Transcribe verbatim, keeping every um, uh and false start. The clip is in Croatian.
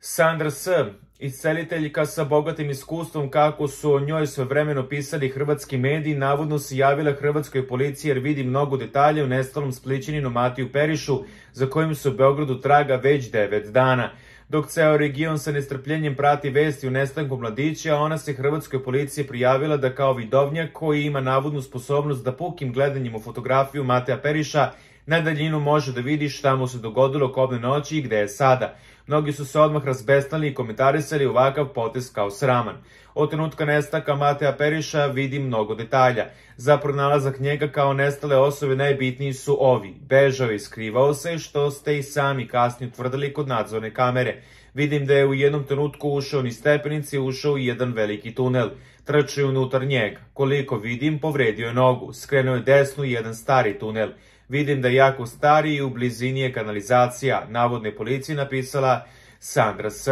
Sandra S., isceliteljka sa bogatim iskustvom kako su o njoj svojevremeno pisali hrvatski mediji, navodno se javila hrvatskoj policiji jer vidi mnogo detalja o nestalom Splićaninu Matiju Perišu, za kojim se u Beogradu traga već devet dana. Dok ceo region sa nestrpljenjem prati vesti o nestanku mladića, ona se hrvatskoj policiji prijavila da kao vidovnjak koji ima navodnu sposobnost da pukim gledanjem u fotografiju Mateja Periša na daljinu može da vidi šta mu se dogodilo kobne noći i gde je sada. Mnogi su se odmah razbesnali i komentarisali ovakav potez kao sraman. Od trenutka nestanka Mateja Periša vidi mnogo detalja. Za pronalazak njega kao nestale osobe najbitniji su ovi. Bežao i skrivao se, što ste i sami kasnije utvrdili kod nadzorne kamere. Vidim da je u jednom trenutku ušao niz stepenice i ušao u jedan veliki tunel. Trčao je unutar njega. Koliko vidim, povredio je nogu. Skrenuo je desnu i jedan stari tunel. Vidim da je jako stari i u blizini je kanalizacija, navodno je policiji napisala Sandra S.